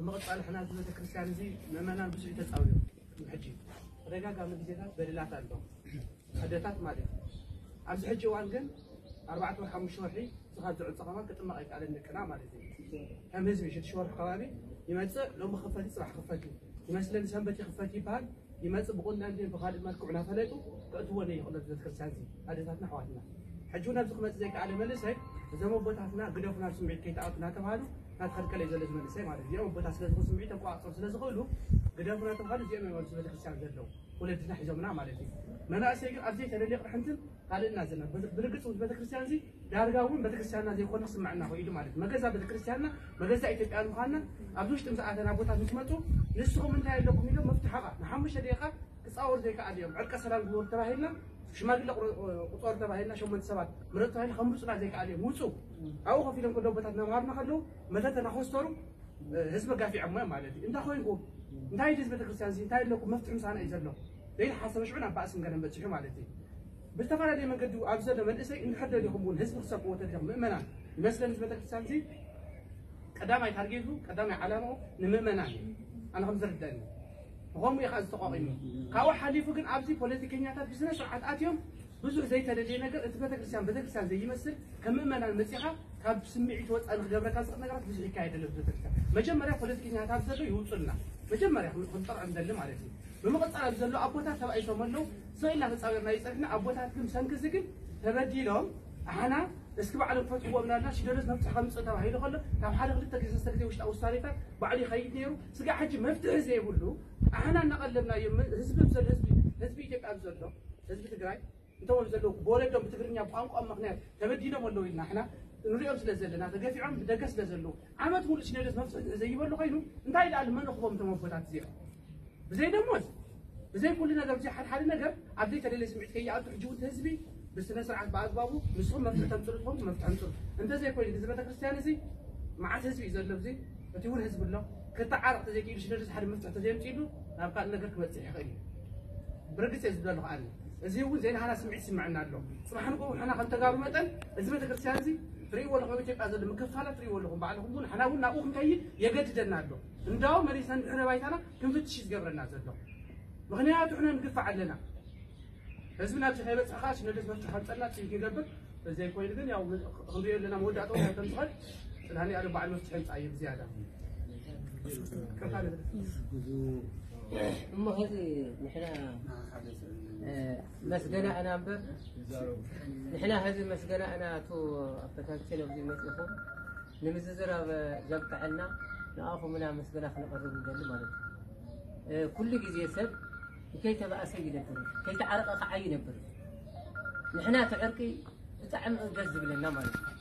ምቕጻል ሕና እዚ ቤተክርስትያን እዚ ምእመናን ብዙሕ ተጻውዩ። ሕጂ ተደጋጋሚ ግዜታት በደላት ኣሎ። ኣደታት ማለት እዩ። ኣብዚ ሕጂ እዋን ግን ኣርባዕተ ወር ሓሙሽተ ወርሒ ዝኻብ ዝዕጸ ከማን ክጥመቕ ኣይከኣለን ደቅና ማለት እዩ። ከም ህዝቢ ሽዱሽተ ወርሒ ከባቢ ይመጽእ፣ ሎሚ ክፈት እዩ፣ ጽባሕ ክፈት እዩ። ይመስለን ሰንበት ይኽፈት ይበሃል። ይመጽእ ብቁንዳን ድን ብኻልእ መልክዑ እናፈለጡ ከእትዎ ዘይኽእሉ ቤተክርስትያን እዚ ኣደታትና ኣሕዋትና። ሕጂ እውን ኣብዚ ክመጽእ ዘይከኣለ መንእሰይ እዞም ኣቦታትና ግደፉና ስምዒት ከይተኣቱ እናተባሃሉ እናተኸልከለ እዩ ዘሎ እዚ መንእሰይ ማለት እዩ። እዚኦም ኣቦታት ስለ ዝኾኑ ስምዒት ተቋጽሩ ስለ ዝኽእሉ ግደፉና ተባሃሉ እዚኦም እዮም ኣብዚ ቤተክርስትያን ዘለዉ ወለድና ሒዞምና ማለት እዩ። መናእሰይ ግን ኣብ ዘይተደልየ ቅርሕንትን ካልእና ዘለና ብርግጽ ምስ ቤተክርስትያን እዚ ዳርጋ እውን ቤተክርስትያንና ዘይኮነ ክስምዐና ክኢሉ ማለት እዩ። መገዛ ቤተክርስትያንና መገዛ ኢትዮጵያ ምዃንና ኣብዚ ውሽጢ ምስ ኣተና ኣቦታት ምስ መፁ ንስኹም እንታይ ኣለኩም ኢሎም መፍትሐ ቃል ንሓሙሽተ ደቂቃ ክፃወሩ ዘይከኣል እዮም። ዕርቀ ሰላም ግበሩ ተባሂልና ሽማግለ ቁረ- ቁፀሩ ተባሂልና ሸሞንተ ሰባት ምረፁ ተባሂልና ከምርፁና ዘይከኣል እዮም። ውፁ ኣብኡ ኮፍ ኢሎም ከሎ ኣቦታት እናምሃሩና ከለዉ መተተ እናኮስተሩ ህዝቢ ጋፊዖሞ እዮም ማለት እዩ። እንታይ ኮይንኩም እንታይ ድዚ ቤተክርስትያን እዚ እንታይ ኣለኩም መፍትሒ ምሳና እዩ ዘሎ ዘይተሓሰበ ሽዑ ናብ ባእስን ገለን በፂሑ ማለት እዩ። ብዝተፈላለየ መንገዲ ኣብ ዘሎ መንእሰይ እንድሕር ደሊኹም እውን ህዝቢ ክሰብክዎ ተደሊኹም ምእመናን ይመስለኒ እዚ ቤተክርስትያን እዚ ቀዳማይ ታርጌቱ ቀዳማይ ዓላምኡ ንምእመናን እዩ። ኣነ ከም ዝርደኒ ብኸምኡ እዩ ከዓ ዝተቋቒሙ። ካብኡ ሓሊፉ ግን ኣብዚ ፖለቲከኛታት ብስነ ስርዓት ኣትዮም ብዙሕ ዘይተደልየ ነገር እቲ ቤተክርስትያን ቤተክርስትያን ዘይመስል ከም ምእመናን መፂኻ ካብ ስምዒት ወፃኢ ንክገብረካ ዝኽእል ነገራት ብዙሕ ይካየድ ኣሎ ቤተክርስትያን። መጀመርያ ፖለቲከኛታት ኣብዚ ዘሎ ይውፁልና መጀመርያ ክንጠርዖም ደሊ ማለት እዩ። ብምቕፃል ኣብዚ ዘሎ ኣቦታት ተባኢሶም ኣለዉ። ስቕ ኢልና ተፃዊርና ይፀንሕና ኣቦታት ግን ብሰንኪ እዚ ግን ተበዲሎም ኣሕና እስኪ ባዕሎም ክፈትሕዎ ምናልና ሲኖዶስ መፍትሒ ከምፅእ ተባሂሉ ከሎ ካብ ሓደ ክልተ ግዜ ሰለስተ ግዜ ውሽጣዊ ውሳኔታት ባዕሉ ይኸይድ ነይሩ። ስጋዕ ሕጂ መፍትሒ ዘይብሉ ኣሕና እናቐለብናዮ ህዝቢ ብዘሎ ህዝቢ ህዝቢ ኢትዮጵያ ብዘሎ ህዝቢ ትግራይ እንተወሉ ዘለዉ ብወለዶም ብትግርኛ ብቋንቋ ምክንያት ተበዲሎም ኣለዉ ኢልና ኣሕና ንሪኦም ስለ ዘለና ተገፊዖም ብደገ ስለ ዘለዉ ዓመት ሙሉእ ሲኖዶስ መፍትሒ ዘይበሉ ኮይኑ እንታይ ደኣ መን እኽቦም እቶም ኣቦታት እዚኦም ብዘይ ደሞዝ ብዘይ ኩሉ ነገር ብዘይ ሓደ ሓደ ነገር ኣብ ዘይተደለየ ስምዒት ከይኣቱ ሕጂ እውን ህዝቢ ብስነ ስርዓት ብኣግባቡ ንስኹም መፍትሒ ተምፅሉ ትኾኑ መፍትሒ ኣምፅሉ እንተዘይኮይኑ እዚ ቤተክርስትያን እዚ መዓት ህዝቢ እዩ ዘሎ እዚ እቲ እውን ህዝቢ ኣሎ ክተዓረቕ ተዘይክኢሉ ሽደርስ ሓደ መፍትሒ ተዘይምፅኢሉ ናብ ካልእ ነገር ክበፅሕ ይኽእል እዩ ብርግፅ እየ ዝብለሉ ከኣኒ እዚ እውን ዘይናህና ስምዒት ይስምዐና ኣሎ ፅባሕ ንግኡ ንሕና ከም ተጋሩ መጠን እዚ ቤተክርስትያን እዚ ትርእይዎ ኣለኹም ኣብ ኢትዮጵያ ዘሎ ምክፋላት ትርእይዎ ኣለኹም ባዕልኹም እውን ንሕና እውን ናብኡ ክንከይድ የገድደና ኣሎ እንዳው መሪስና ንድሕረ ባይታና ክንፍትሽ እዩ ዝገብረና ዘሎ ምኽንያቱ ሕነ ንግፋዕ ኣለና ህዝቢ ናብዚ ከይበፅሕ ከዓ ሲኖዶስ መፍትሒ ከምፀልና ፅቢት ንገብር ዘይኮይኑ ግን ያው ክንሪኦ ኣለና መወዳእታ እንታይ ከም ዝኸድ ፅናኒ ኣደ በዓል መፍትሒ ምፃ እዩ ብዝያዳ እሞ ሕዚ ንሕና መስገና እና እምበር ንሕና ሕዚ መስገና እና እቱ ኣፈታችን ኣብዚ መፅእኹም ንምዝዝራብ ዘብቅዐና ንኣኹም እና መስገና ክነቐርብ ንደሊ ማለት እዩ ኩሉ ግዜ ሰብ ከይተባእሰ ይነብር ከይተዓረቐ ከዓ ይነብር ንሕና እቲ ዕርቂ ብጣዕሚ ደስ ዝብለና ማለት እዩ